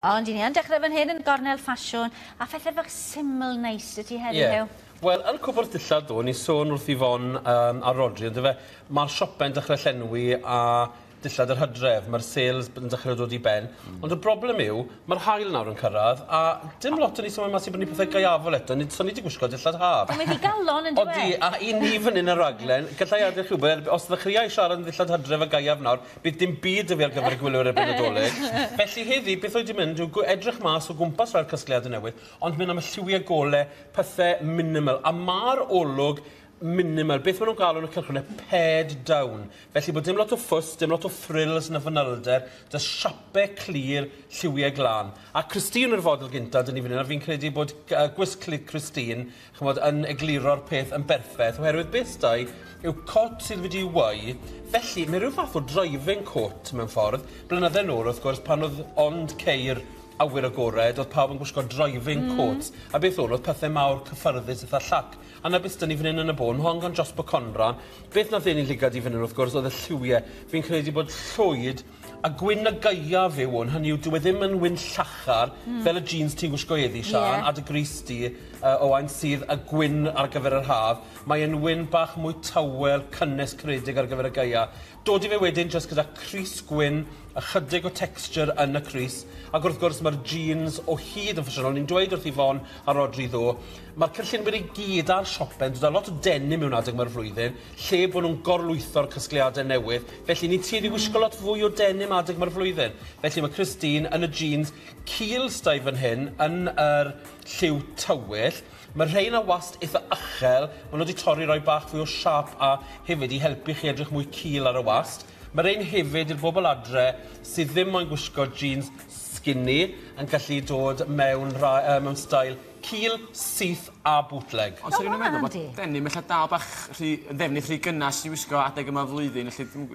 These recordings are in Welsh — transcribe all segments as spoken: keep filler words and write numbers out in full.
Ond i ni yn dechrau fan hyn yn gornel ffasiwn, a phethau fach syml neis y ti heddiw. Yeah. Wel, yn y cwpwrdd dillad ddo, ni sôn wrth Yvonne um, a Rodri, ond fe, mae'r siope'n dechrau llenwi a dillad yr hydref, mae'r sales yn dechrau dod i ben. Mm. Ond y broblem yw, mae'r haul nawr yn cyrraedd, a dim lot o ni sy'n mas i brynu pethau gaeafol eto, ni, so ni wedi gwisgo dillad haf. Ond mae ddigalon yn dweud. Odi, a i ni fan hyn y raglen, gallai adeg chi wybod, os ddechreuai siarad yn ddillad hydref a gaeaf nawr, bydd dim byd y fi ar gyfer y gwylwyr erbyn y Dolig. Felly heddi, beth oedd wedi mynd yw edrych mas o gwmpas rhai'r casgliadau newydd, ond mynd am y lliwiau golau, pethau minimal. A mae'r olwg minimal. Beth maen nhw'n galw yn y cylchgronau? Pared down. Felly bod dim lot o ffws, dim lot o frills na fanylder, dy siapau clir, lliwiau glân. A Christine yw'r fodel gyntaf, dyn ni fan hyn, a fi'n credu bod uh, gwisg Christine, chymod, yn egluro'r peth yn berffaith, oherwydd beth sdau yw cot sydd wedi weu. Felly, mae rhyw fath o driving coat mewn ffordd. Blynydde nôl, wrth gwrs, pan oedd ond ceir awyr agored, oedd pawb yn gwisgo driving mm. coats. A beth oedd, oedd pethau mawr cyffyrddus eitha llac. A na beth dyn ni fan hyn yn y bôn, hon gan Jospo Conran. Beth nath ein llygad i fan hyn, wrth gwrs, oedd y lliwiau. Fi'n credu bod llwyd a gwyn y gaeaf yw hwn, hynny yw, dyw e ddim yn wyn llachar, mm. fel y jeans ti'n gwisgo heddi, Sian, yeah. a dy grys di, uh, Owain, sydd y gwyn ar gyfer yr haf. Mae e'n wyn bach mwy tawel, cynnes, credig ar gyfer y gaeaf. Dod i fe wedyn jyst gyda crys gwyn, ychydig o texture yn y crys, ac wrth gwrs mae'r jeans o hyd yn ffasiynol. Ni'n dweud wrth Yvonne a Rodri ddo, mae'r cynllunwyr i gyd ar siopen, dod â lot o denim mewn adeg mae'r flwyddyn, lle bod nhw'n gorlwytho'r casgliadau newydd. Felly ni'n tueddu i wisgo lot fwy o denim adeg mae'r flwyddyn. Felly mae Christine yn y jeans cul stai fan hyn, yn yr lliw tywyll. Mae rhain a wast eitha uchel, maen nhw wedi torri roi bach fwy o siâp a hefyd i helpu chi edrych mwy cul ar y wast. Mae rhain hefyd i'r bobl adre sydd ddim moyn gwisgo jeans skinny yn gallu dod mewn, ra, uh, mewn stael cul, syth a bootleg. Ond sy'n rhywun yn meddwl bod denim ella dal bach rhy, yn ddefnydd rhy gynnas i wisgo adeg yma flwyddyn, felly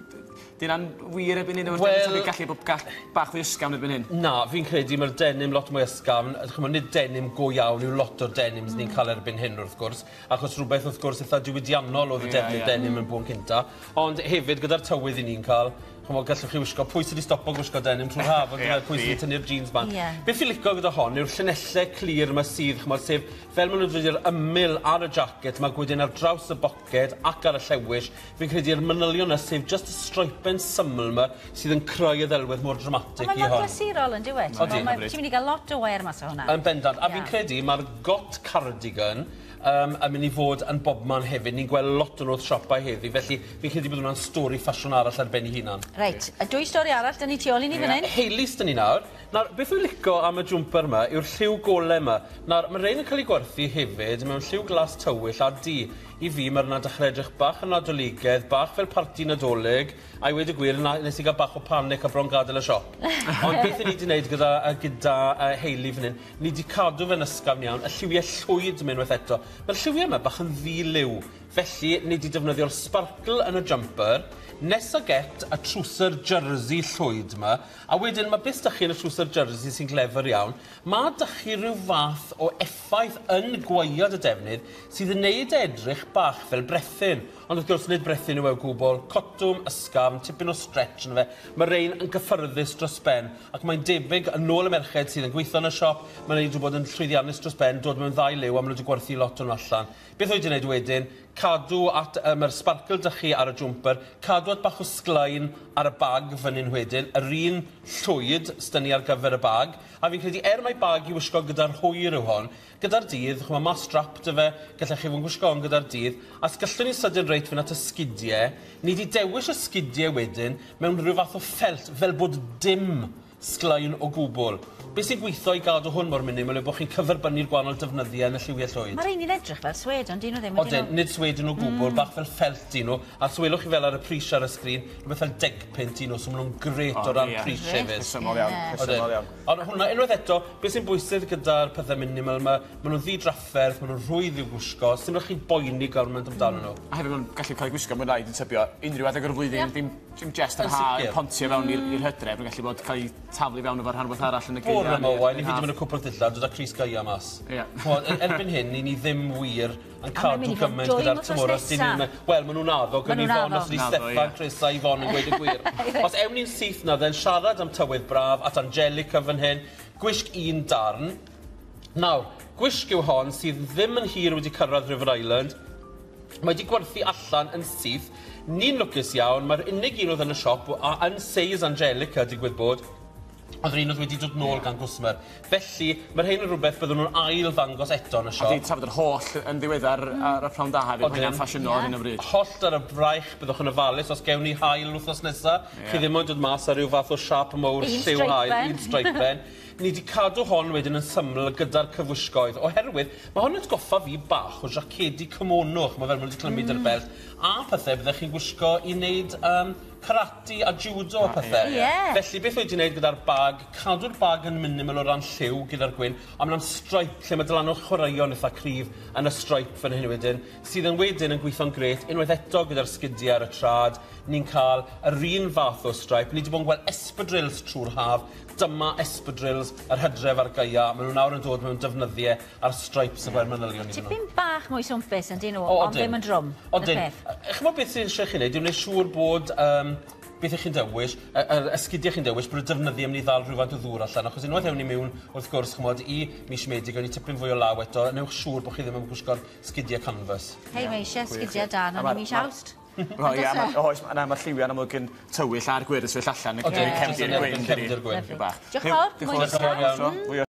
di hynna'n wir erbyn hyn? Wel, gallu bod gall bach fwy ysgafn erbyn hyn? Na, fi'n credu mae'r denim lot mwy ysgafn. Chymod, nid denim go iawn yw lot o'r denims mm. ni'n cael erbyn hyn, wrth gwrs, achos rhywbeth, wrth gwrs, eitha diwydiannol oedd y yeah, defnydd yeah. denim yn bôn cynta. Ond hefyd, gyda'r tywydd i ni'n cael, chymod, gallwch chi wisgo, pwy sydd wedi stopo gwisgo denim trwy'r haf, ond yeah, pwy sydd wedi tynnu'r jeans bant. Yeah. Beth fi'n licio gyda hon yw'r llinellau clir yma sydd, chymod, sef fel maen nhw'n dod i'r ymyl ar y jacket, mae wedyn ar draws y boced ac ar y llewis, fi'n credu'r manylion yna, sef just y stripen syml yma sydd yn creu y ddelwedd mor dramatic i hon. Mae'n glasurol yn diwedd. Ti'n mynd i gael lot o wair mas o hwnna. Yn bendant. A fi'n credu mae'r got cardigan um, yn mynd i fod yn bobman hefyd. Ni'n gweld lot o'n wrth siopau heddi, felly fi'n credu bod hwnna'n stori ffasiwn arall ar ben ei hunan. Reit, a dwy stori arall, dyn ni tu ôl i ni fan hyn. Hayley's dyn ni nawr. Nawr, beth wy'n licio am y jwmper yma yw'r lliw golau yma. Nawr, mae rhain yn cael ei gwerthu hefyd mewn lliw glas tywyll a du. I fi, mae'r yna dechrau edrych bach yn nadoligedd, bach fel parti Nadolig, a i weud y gwir, nes i gael bach o panic a bron gadael y siop. Ond beth ni wedi gwneud gyda, gyda uh, Hayley fan hyn, ni wedi cadw fe'n ysgafn iawn, y lliwiau llwyd yma unwaith eto. Mae'r lliwiau yma bach yn ddi-liw, felly ni wedi defnyddio'r sparkle yn y jumper, nesa get y trwser jersey llwyd yma, a wedyn mae beth dych chi yn y trwser jersey sy'n glefer iawn, mae dych chi rhyw fath o effaith yn gwaead y defnydd sydd yn neud edrych bach fel brethyn. Ond wrth gwrs nid brethyn yw e o gwbl, cotwm, ysgafn, tipyn o stretch yna fe. Mae rhain yn gyffyrddus dros ben, ac mae'n debyg yn ôl y merched sydd yn gweithio yn y siop, mae'n wedi bod yn llwyddiannus dros ben, dod mewn ddau liw a maen nhw wedi gwerthu lot o'n allan. Beth oedd wedi gwneud wedyn? Cadw at, um, mae'r sparkle dych chi ar y jumper, cadw at bach o sglein ar y bag fan hyn wedyn, yr un llwyd s'da ni ar gyfer y bag, a fi'n credu er mai bag i wisgo gyda'r hwyr yw hon, gyda'r dydd, ch'mo' ma' strap 'da fe, gallech chi fod yn gwisgo hon gyda'r dydd, a gallwn ni sydyn reit fynd at y sgidiau, ni wedi dewis y sgidiau wedyn mewn rhyw fath o ffelt, fel bod dim sglein o gwbl. Beth sy'n gweithio i gadw hwn mor minimal yw bod chi'n cyferbynnu'r gwahanol defnyddiau yn y lliwiau llwyd. Mae'r un i'n edrych fel swed, ond dyn nhw ddim. Odyn, nid swed yn o gwbl, mm. bach fel ffelt dyn nhw. A swelwch chi fel ar y pris ar y sgrin, rhywbeth fel deg punt dyn nhw, so maen nhw'n gret o ran yeah. pris hefyd. Rhesymol iawn, rhesymol iawn. Ond hwnna, unwaith eto, beth sy'n bwysig gyda'r pethau minimal yma, maen nhw'n ddi-drafferth, maen nhw'n rhwydd i'w gwisgo, sy'n rhaid chi boeni gormod amdano nhw. A hefyd maen nhw'n gallu cael eu gwisgo, mae'n rhaid yn tybio, unrhyw adeg o'r flwyddyn, dim, dim jest ar ha, pontio fewn i'r mm. hydref, mae'n gallu bod cael ei taflu fewn efo'r rhan arall yn y gaeaf. Bore yma, Owain, i fi wedi mynd y cwpl dillad, dod â crys gaea mas. Ie. Erbyn hyn, ni ddim wir yn cadw gymaint gyda'r tymor. Wel, maen nhw'n addo, gan Yvonne, os ydi Steffan, Chris a Yvonne yn gweud y gwir. Os ewn ni'n syth na, then siarad am tywydd braf, at Angelica fan hyn, Gwisg un darn. Nawr, gwisg yw hon sydd ddim yn hir wedi cyrraedd River Island. Mae wedi gwerthu allan yn syth. Ni'n lwcus iawn, mae'r unig un oedd yn y siop, a yn seis Angelica digwydd bod, oedd yr un oedd wedi dod nôl gan gwsmer. Felly, mae'r hyn yn rhywbeth byddwn nhw'n ail ddangos eto yn y siop. A di trafod yr holl yn ddiweddar ar y prawn da hefyd, mae hynna'n ffasiynol ar hyn o bryd. Hollt ar y braich, byddwch yn ofalus os gewn ni haul wythnos nesaf. Yeah. Chi ddim ond dod mas ar ryw fath o siap mowr lliw haul, un streipen. Ni wedi cadw hon wedyn yn syml gyda'r cyfwisgoedd, oherwydd mae hon yn atgoffa fi bach o jacedi kimono, ch'mo' fel ma' nhw wedi clymu mm. dy'r belt, a pethau byddech chi'n gwisgo i wneud um, karate a judo a pethau. Yeah. Felly beth wedi wneud gyda'r bag, cadw'r bag yn minimal o ran lliw gyda'r gwyn, a mae'n stripe lle mae dylanwad chwaraeon eitha cryf yn y stripe fan hyn wedyn, sydd yn wedyn yn gweithio'n grêt, unwaith eto gyda'r sgidiau ar y trad, ni'n cael yr un fath o stripe. Ni wedi bod yn gweld espadrilles trwy'r haf, dyma espadrilles yr hydref a'r gaea, maen nhw nawr yn dod mewn defnyddiau a'r stripes y blaen manylion iddyn nhw. Tipyn bach mwy swmpus yn dyn nhw, ond ddim yn drwm. Odyn. Ch'mod beth sy'n eisiau chi wneud, yw wneud siŵr bod um, beth ych chi'n dewis, yr esgidiau chi'n dewis, bod y defnyddiau yn mynd i ddal rhywfaint o ddŵr allan, achos unwaith ewn ni mewn, wrth gwrs, ch'mod, i mis Medi, gawn ni tipyn fwy o law eto, newch siŵr bod chi ddim yn gwisgo'r sgidiau canvas. Hei, mae eisiau sgidiau da, na ni mis Awst. O ia, oes, na, mae'r lliwiau'n amlwg yn tywyll a'r gwyrdd yn sefyll allan yn cefndir gwyn. Cefndir gwyn. Diolch yn fawr. Diolch yn fawr.